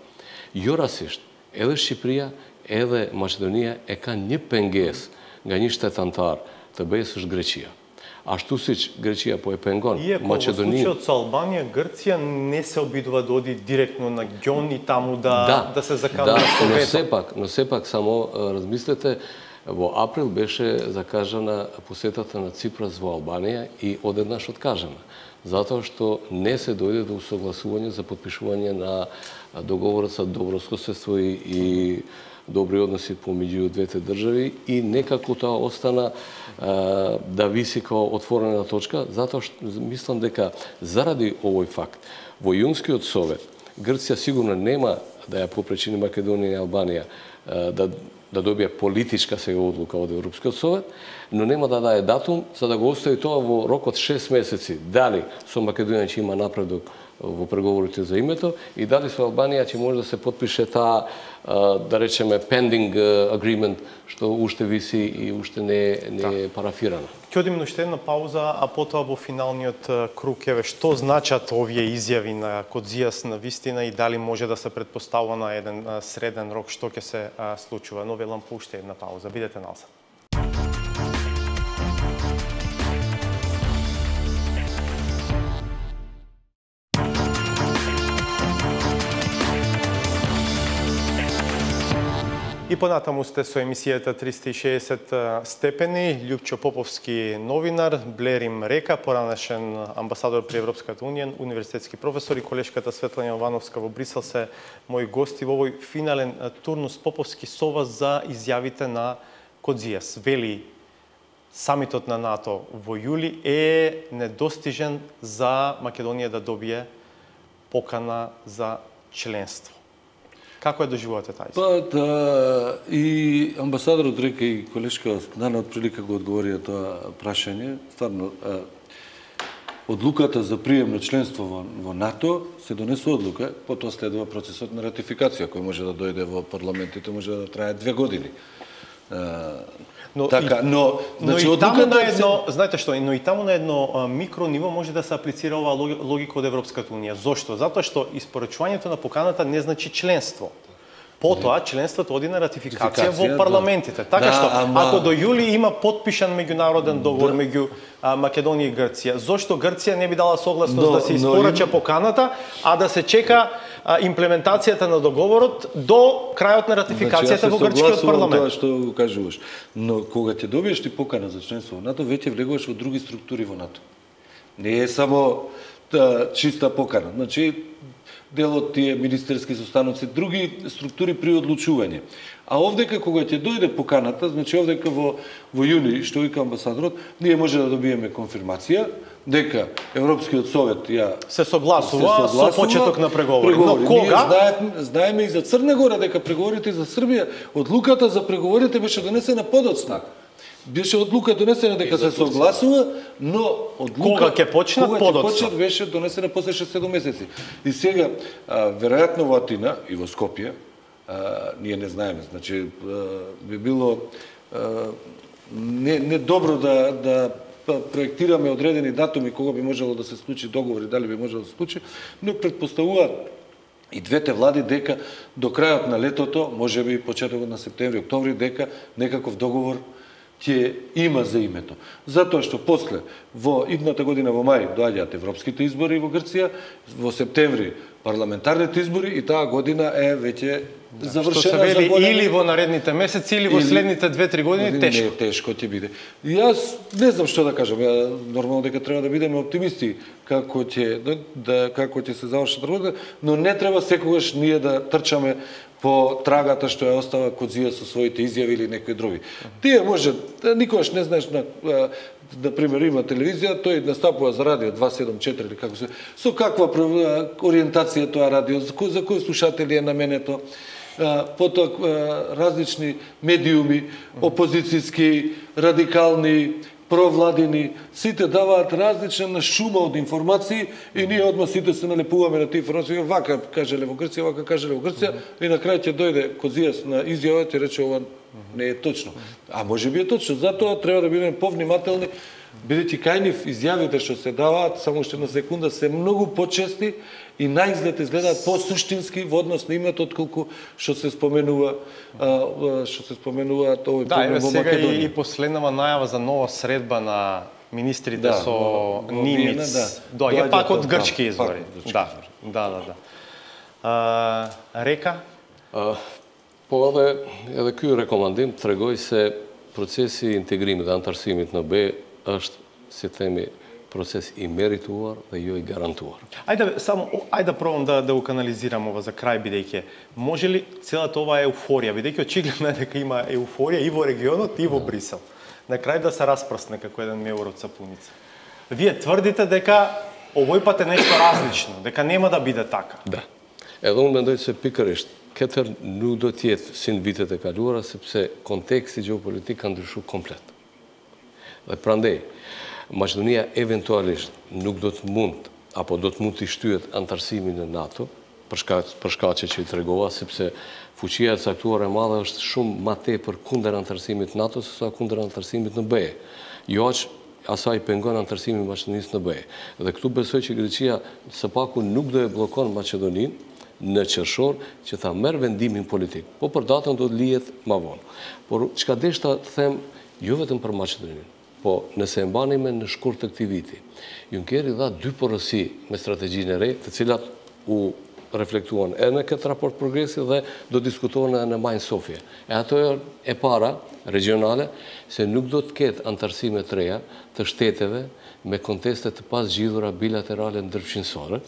Speaker 2: jo rastisht, edhe Shqipëria, edhe Maqedonia e kanë një pengesë nga një shtet antar të B E-s, është Greqia. Ashtu siç Greqia po e pengon Maqedoninë.
Speaker 1: Иако во случајот со Албанија, Грција не се обидува да оди директно на ѓон и таму да,
Speaker 2: да,
Speaker 1: да се закана
Speaker 2: да,
Speaker 1: со
Speaker 2: но
Speaker 1: вето.
Speaker 2: сепак, но сепак само размислете, во април беше закажана посетата на Ципрас во Албанија и одеднаш откажана, затоа што не се дојде до усогласување за подпишување на договорот за добрососедство и, и добри односи помеѓу двете држави и некако тоа остана а, да виси као отворена точка, затоа што мислам дека заради овој факт во Јунскиот совет Грција сигурно нема да ја попречини Македонија и Албанија а, да да добија политичка сега одлука од Европскиот совет, но нема да даде датум за да го остави тоа во рок од шест месеци. Дали со Македонија ќе има напредок во преговорите за името и дали со Албанија ќе може да се подпише таа, да речеме, pending agreement, што уште виси и уште не, не е парафирана.
Speaker 1: Ќе одиме на уште една пауза, а потоа во финалниот круг, еве, што значат овие изјави на Кодзијас на вистина и дали може да се претпоставува на еден среден рок што ќе се случува. Но велам по уште една пауза. Бидете назад. И понатаму сте со емисијата триста и шеесет степени. Љупчо Поповски, новинар, Блерим Река, поранешен амбасадор при Европската Унија, универзитетски професор, и колешката Светлана Јовановска во Брисел се мои гости во овој финален турнус. Поповски, со вас за изјавите на Кодзијас. Вели, самитот на НАТО во јули е недостижен за Македонија да добие покана за членство. Како ја доживувате тај?
Speaker 4: Па, да, и амбасадорот Река и колешка Нана од прилика го одговорија тоа прашање. Стварно, одлуката за прием на членство во, во НАТО се донесе одлука, потоа следува процесот на ратификација, кој може да дојде во парламентите, може да трае две години.
Speaker 1: Но
Speaker 4: така,
Speaker 1: и,
Speaker 4: но, значи,
Speaker 1: но и таму на
Speaker 4: се...
Speaker 1: едно, знаете што, но и таму на едно а, микро ниво може да се аплицира оваа логика од Европската Унија. Зошто? Затоа што испорачувањето на поканата не значи членство. Потоа членството оди на ратификација во парламентите. Така
Speaker 4: да,
Speaker 1: што,
Speaker 4: ама...
Speaker 1: ако до јули има подпишан меѓународен договор да. меѓу а, Македонија и Грција, зошто Грција не би дала согласност
Speaker 4: но,
Speaker 1: да се испорача но... поканата, а да се чека а, имплементацијата на договорот до крајот на ратификацијата
Speaker 4: значи,
Speaker 1: во грчкиот парламент?
Speaker 4: Тоа што го кажуваш. Но кога ќе добиеш ти покана за членство во НАТО, веќе влегуваш во други структури во НАТО. Не е само та, чиста покана. Значи, дел од тие министерски состаноци, други структури при одлучување. А овдека кога ќе дојде поканата, значи овдека во во јуни, што вика амбасадорот, ние може да добиеме конфирмација дека Европскиот совет ја
Speaker 1: се согласува, се согласува со почеток на преговори.
Speaker 4: преговори.
Speaker 1: Но кога?
Speaker 4: Ние знаеме, знаеме и за Црна Гора дека преговорите за Србија, одлуката за преговорите беше донесена подоцна. Беше одлука донесена дека се согласува, но одлука
Speaker 1: кога ќе почнат подоцна
Speaker 4: беше донесена после шест-седум месеци. И сега а, веројатно во Атина и во Скопје, а, ние не знаеме, значи а, би било а, не не добро да да проектираме одредени датуми кога би можело да се случи договори, дали би можело да се случи, но претпоставуваат и двете влади дека до крајот на летото, можеби почетокот на септември, октомври, дека некаков договор ќе има за името. Затоа што после, во идната година во мај, доаѓаат европските избори во Грција, во септември парламентарните избори и таа година е веќе да, завршена. Што
Speaker 1: се вели или во наредните месеци, или во или... следните две-три години, години, тешко.
Speaker 4: Не, тешко ќе биде. И јас не знам што да кажам. Ја нормално дека треба да бидеме оптимисти како ќе да, да како ќе се завршат работата, но не треба секогаш ние да трчаме по трагата што ја остава Кодзија со своите изјави или некои други. Тие може, никогаш не знаеш, на, на пример има телевизија, тој настапува за радио два седум четири или како се, со каква ориентација тоа радио, за кои, за кои слушатели е наменето, потоа различни медиуми, опозицијски, радикални, провладини, сите даваат различна шума од информации и ние одма сите се налепуваме на тие информации, вака кажеле во Грција, вака кажеле во Грција, и на крај ќе дојде Кодзијас на изјава, ќе рече ова Не е точно. А може би е точно. Затоа треба да бидеме повнимателни, бидејќи кај нив изјавите што се даваат, само уште на секунда, се многу почести и наизглед изгледаат по-суштински во однос на името отколку што се споменува што се споменуваат овој
Speaker 1: да,
Speaker 4: проблем во
Speaker 1: Македонија. Да,
Speaker 4: и
Speaker 1: и последнава најава за нова средба на министрите да, со Нимиц. Да. Доаѓа пак од грчки извори. Да, да, да, да. А, Река?
Speaker 2: А, по овде, edhe ky rekomandim tregoj se procesi i integrimit dhe antarësimit në B është, si themi, proces i merituar dhe jo i garantuar.
Speaker 1: Ајде само ајде да пробам да да го канализирам ова за крај, бидејќи може ли целата ова еуфорија, бидејќи очигледно е дека има еуфорија и во регионот и во Брисел, на крај да се распрсне како еден меур од сапуница. Вие тврдите дека овој пат е нешто различно, дека нема да биде така.
Speaker 2: Да. Edhe unë mendoj se pikërisht këtër nuk do të jetë si në vitet e kaluara sepse konteksti gjeopolitik ka ndryshuar komplet. Dhe prandaj Maqedonia eventualisht nuk do të mund apo do të mund të shtyhet antarësimin në NATO për shkak për shkaqe që i tregova, sepse fuqia e caktuar e madhe është shumë më tepër kundër antarësimit në NATO se sa kundër antarësimit në B E. Jo aq asaj pengon antarësimin e Maqedonisë në B E. Dhe këtu besoj që Greqia së paku nuk do e bllokon Maqedoninë në qershor që ta merr vendimin politik. Po për datën do të lihet më vonë. Por çka deshta të them jo vetëm për Maqedoninë, po nëse e mbani me në shkurt të këtij viti, Junckeri dha dy porosi me strategjinë e re, të cilat u reflektuan edhe në këtë raport progresi dhe do diskutohen edhe në Majnë Sofje. E ato e para, regionale, se nuk do të ketë antarësime të reja të shteteve me konteste të pasgjidhura bilaterale ndërfshinësore,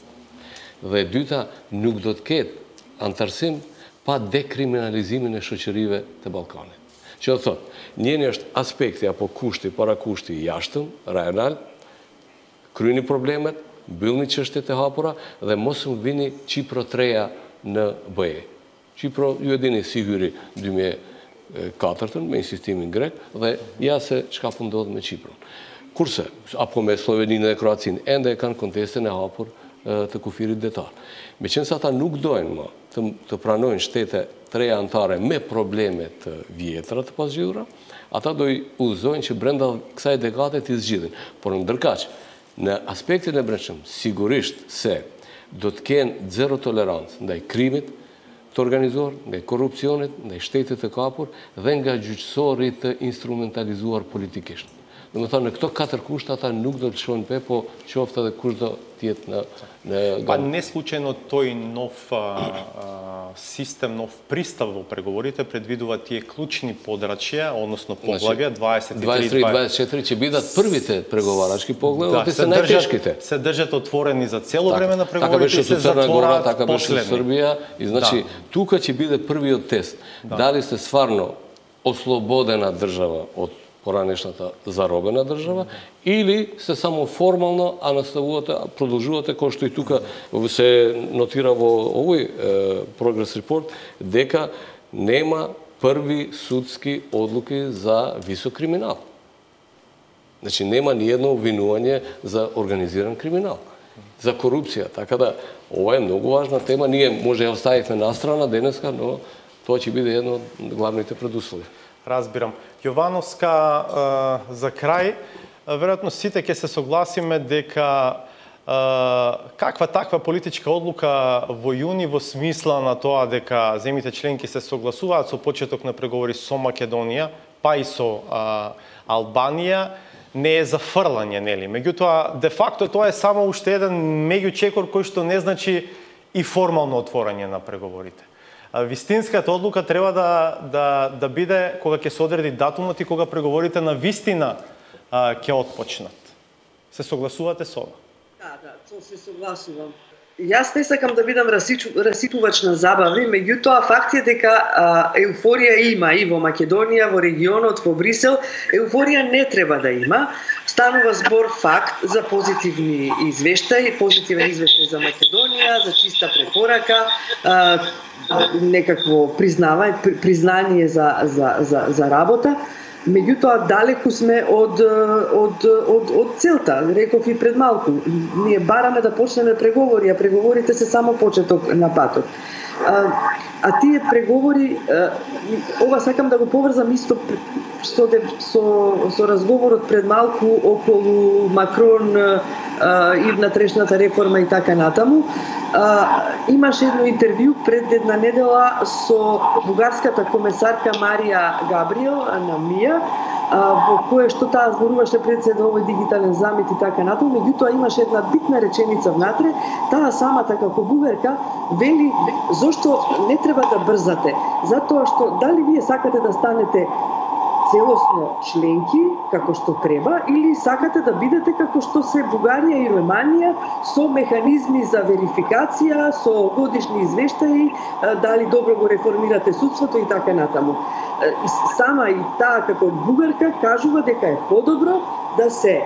Speaker 2: dhe e dyta nuk do të ketë antarësim pa dekriminalizimin e shoqërive të Ballkanit. Që do thotë, njëri është aspekti apo kushti, para kushti i jashtëm, rajonal, kryeni problemet, mbyllni çështjet e hapura dhe mos më vini Qipro treja në B E. Qipro, ju e dini si hyri dy mijë e katërt me insistimin grek dhe ja se çka po ndodh me Qipron. Kurse, apo me Sloveninë dhe Kroacinë, ende e kanë kontestin e hapur të kufirit detar. Meqense se ata nuk dojnë më të, të pranojnë shtete treja antare me probleme të vjetra të pasgjidhura, ata do i udhëzojnë që brenda kësaj dekade të zgjidhin. Por ndërkaq, në aspektin e brendshëm, sigurisht se do të kenë zero tolerancë ndaj krimit të organizuar, ndaj korrupsionit, ndaj shtetit të kapur dhe nga gjyqësorit të instrumentalizuar politikisht. Dhe më thënë, në këto katër kushte ata nuk do të shkojnë pe, po qoftë edhe kush do tjetë në... në...
Speaker 1: Pa не случајно тој нов а, систем, нов пристав во преговорите предвидува тие клучни подрачја, односно поглавја дваесет и три
Speaker 2: дваесет и три дваесет и четири ќе бидат првите преговарачки поглави, да, се најтешките.
Speaker 1: Се држат отворени за цело так, време на преговорите
Speaker 2: и се затвораат така беше со Србија и значи
Speaker 1: да.
Speaker 2: Тука ќе биде првиот тест. Да. Дали сте стварно ослободена држава од поранешната заробена држава, или се само формално, а наставувате, продолжувате, кој што и тука се нотира во овој е, прогрес репорт, дека нема први судски одлуки за висок криминал. Значи, нема ни едно обвинување за организиран криминал, за корупција. Така да, ова е многу важна тема. Ние може ја оставивме настрана денеска, но тоа ќе биде едно од главните предуслови.
Speaker 1: Разбирам. Јовановска, за крај, веројатно сите ќе се согласиме дека каква таква политичка одлука во јуни во смисла на тоа дека земјите членки се согласуваат со почеток на преговори со Македонија, па и со Албанија, не е зафрлање, нели? Меѓутоа, де факто тоа е само уште еден меѓучекор кој што не значи и формално отворање на преговорите. Вистинската одлука треба да, да, да биде кога ќе се одреди датумот и кога преговорите на вистина ќе отпочнат. Се согласувате со ова?
Speaker 3: Да, да, со се согласувам. Јас не сакам да бидам расипувач на забави, меѓутоа факт е дека а, еуфорија има и во Македонија, во регионот, во Брисел. Еуфорија не треба да има. Станува збор факт за позитивни извештаи, позитивен извештај за Македонија, за чиста препорака, а, некакво признавање, признание за, за, за, за работа. Меѓутоа, далеку сме од, од, од, од целта. Реков и пред малку. Ние бараме да почнеме преговори, а преговорите се само почеток на патот. А, а тие преговори, а, ова сакам да го поврзам исто со, со, со разговорот пред малку околу Макрон а, и внатрешната реформа и така натаму. А, имаше едно интервју пред една недела со бугарската комесарка Марија Габриел на МИА, во кое што таа зборуваше пред се да овој дигитален замет и така натаму, меѓутоа имаше една битна реченица внатре, таа самата како бугарка вели зошто не треба да брзате, затоа што дали вие сакате да станете целосно членки, како што треба, или сакате да бидете како што се Бугарија и Романија, со механизми за верификација, со годишни извештаи, дали добро го реформирате судството и така натаму. Сама и таа како бугарка кажува дека е подобро да се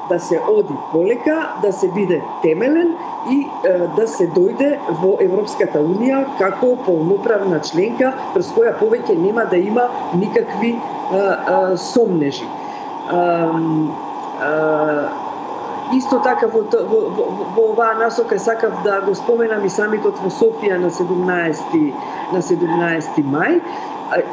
Speaker 3: да се оди полека, да се биде темелен и е, да се дојде во Европската Унија како полноправна членка, през која повеќе нема да има никакви е, е, сомнежи. Е, е, Исто така во, во, во, во оваа насока сакав да го споменам и самитот во Софија на седумнаесети на седумнаесети мај.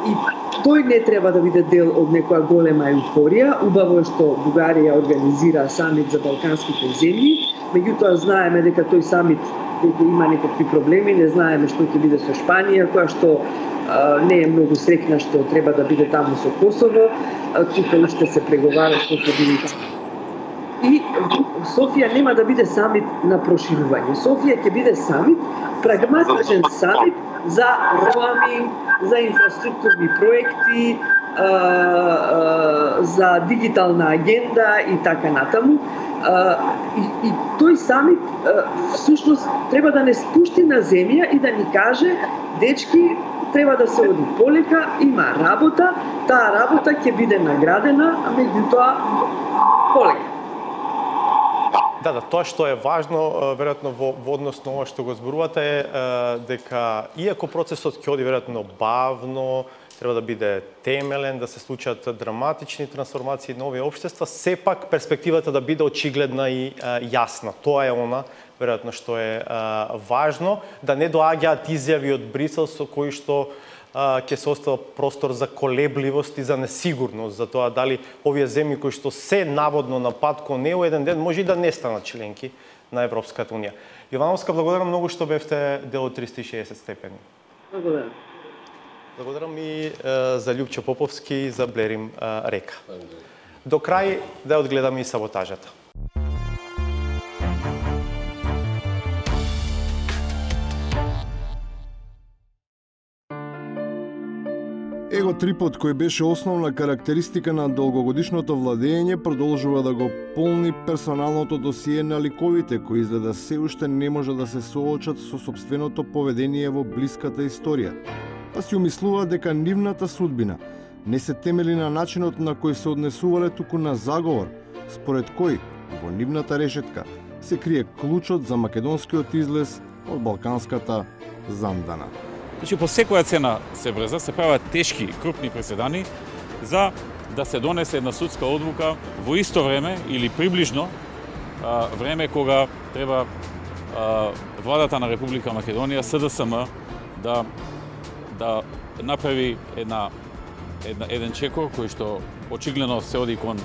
Speaker 3: И тој не треба да биде дел од некоја голема еуфорија. Убаво е што Бугарија организира самит за балканските земји, меѓутоа знаеме дека тој самит дека има некакви проблеми, не знаеме што ќе биде со Шпанија, која што а, не е многу среќна што треба да биде таму со Косово. Тука уште се преговара што ќе биде. И Софија нема да биде самит на проширување. Софија ќе биде самит, прагматичен самит за роаминг, за инфраструктурни проекти, а, а, за дигитална агенда и така натаму. А, и, и тој самит а, всушност треба да не спушти на земја и да ни каже, дечки, треба да се оди полека, има работа, таа работа ќе биде наградена, а меѓутоа полека.
Speaker 1: Да, да, тоа што е важно, веројатно во, во однос на ова што го зборувате е дека иако процесот ќе оди веројатно бавно, треба да биде темелен, да се случат драматични трансформации на овие општества, сепак перспективата да биде очигледна и а, јасна. Тоа е она веројатно што е а, важно, да не доаѓаат изјави од Брисел со кои што ќе се остава простор за колебливост и за несигурност, за тоа дали овие земји кои што се наводно на пат кон неу еден ден може и да не станат членки на Европската Унија. Јовановска, благодарам многу што бевте дел од триста и шеесет степени.
Speaker 3: Благодарам.
Speaker 1: Благодарам и е, за Љупчо Поповски и за Блерим е, Река. До крај да одгледаме и саботажата.
Speaker 5: Еготрипот, кој беше основна карактеристика на долгогодишното владење, продолжува да го полни персоналното досие на ликовите, кои изгледа се уште не може да се соочат со сопственото поведение во блиската историја. Па си умислува дека нивната судбина не се темели на начинот на кој се однесувале, туку на заговор, според кој во нивната решетка се крие клучот за македонскиот излез од балканската зандана.
Speaker 6: Значи, по секоја цена се брза, се прават тешки, крупни преседани за да се донесе една судска одлука во исто време или приближно а, време кога треба а, владата на Република Македонија, С Д С М, да да направи една, една еден чекор кој што очигледно се оди кон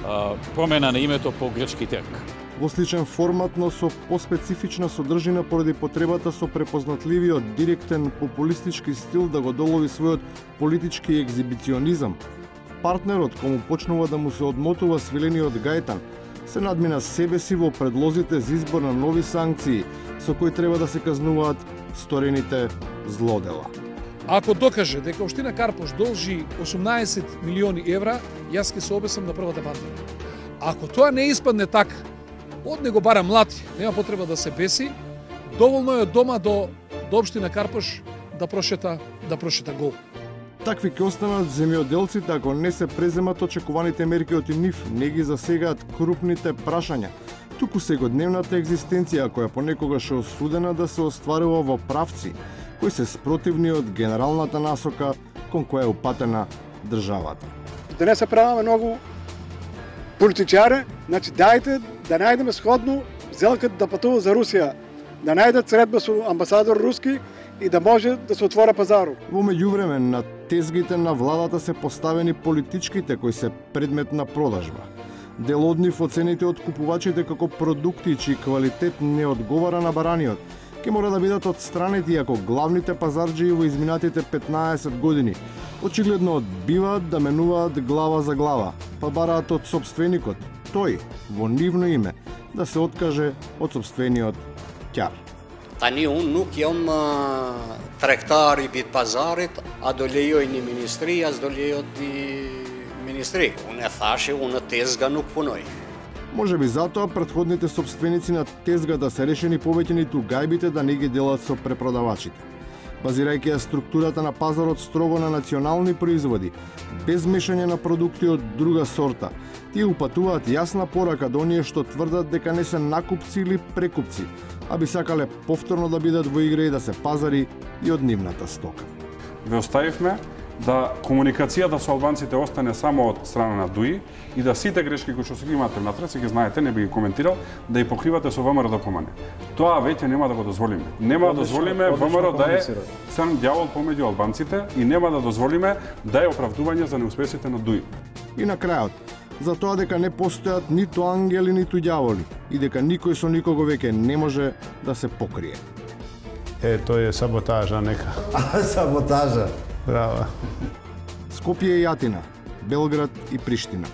Speaker 6: а, промена на името по грчки терк.
Speaker 5: Во сличен формат, но со поспецифична содржина поради потребата со препознатливиот директен популистички стил да го долови својот политички екзибиционизам, партнерот кому почнува да му се одмотува свилениот гајтан, се надмина себе си во предлозите за избор на нови санкции со кои треба да се казнуваат сторените злодела.
Speaker 7: Ако докаже дека општина Карпош должи осумнаесет милиони евра, јас ќе се обесам на првата банда. Ако тоа не испадне така, од него бара млати, нема потреба да се беси, доволно е од дома до, до општина Карпош да прошета, да прошета гол.
Speaker 5: Такви ќе останат земјоделците ако не се преземат очекуваните мерки од нив, не ги засегаат крупните прашања, туку сегодневната екзистенција која понекогаш е осудена да се остварува во правци кои се спротивни од генералната насока кон која е упатена државата.
Speaker 8: да не се правиме многу политичари, значи дајте да најдеме сходно Зелкат да патува за Русија, да најдат средба со амбасадор руски и да може да се отвора пазарот.
Speaker 5: Во меѓувреме на тезгите на владата се поставени политичките кои се предмет на продажба. Дел од нив оцените од купувачите како продукти чиј квалитет не одговара на бараниот, ќе мора да бидат отстранети ако главните пазарџии во изминатите петнаесет години очигледно одбиваат да менуваат глава за глава, па бараат од собственикот, тој, во нивно име, да се откаже од собствениот ќар.
Speaker 9: Tani unë nuk jam tregtar i bit pazarit, a do lejoj një ministri, as do lejoj një ministri. Unë e thashe, unë tezga nuk punoj.
Speaker 5: Може би затоа претходните собственици на тезгата се решени повеќе ниту гајбите да не ги делат со препродавачите. Базирајќи ја структурата на пазарот строго на национални производи, без мешање на продукти од друга сорта, тие упатуваат јасна порака до оние што тврдат дека не се накупци или прекупци, а би сакале повторно да бидат во игра и да се пазари и од нивната стока.
Speaker 10: Ве оставивме да комуникацијата со албанците остане само од страна на ДУИ и да сите грешки кои што се ги имате внатре, се ги знаете, не би ги коментирал, да ги покривате со ВМРО да помане. Тоа веќе нема да го дозволиме. Нема да дозволиме ВМРО да е црн ѓавол помеѓу албанците и нема да дозволиме да е оправдување за неуспесите на ДУИ.
Speaker 5: И на крајот, за тоа дека не постојат ниту ангели, ниту ѓаволи и дека никој со никого веќе не може да се покрие.
Speaker 11: Е, тој е саботажа нека.
Speaker 12: Саботажа.
Speaker 11: Браво.
Speaker 5: Скопје и Атина, Белград и Приштина.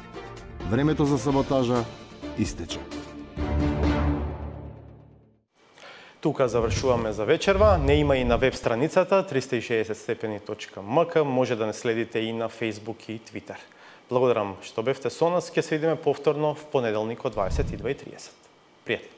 Speaker 5: Времето за саботажа истече.
Speaker 1: Тука завршуваме за вечерва. Не има и на веб страницата триста и шеесет степени точка ем ка. Може да не следите и на Facebook и Twitter. Благодарам што бевте со нас. Ќе се видиме повторно в понеделник од дваесет и две и тридесет. Пријатно.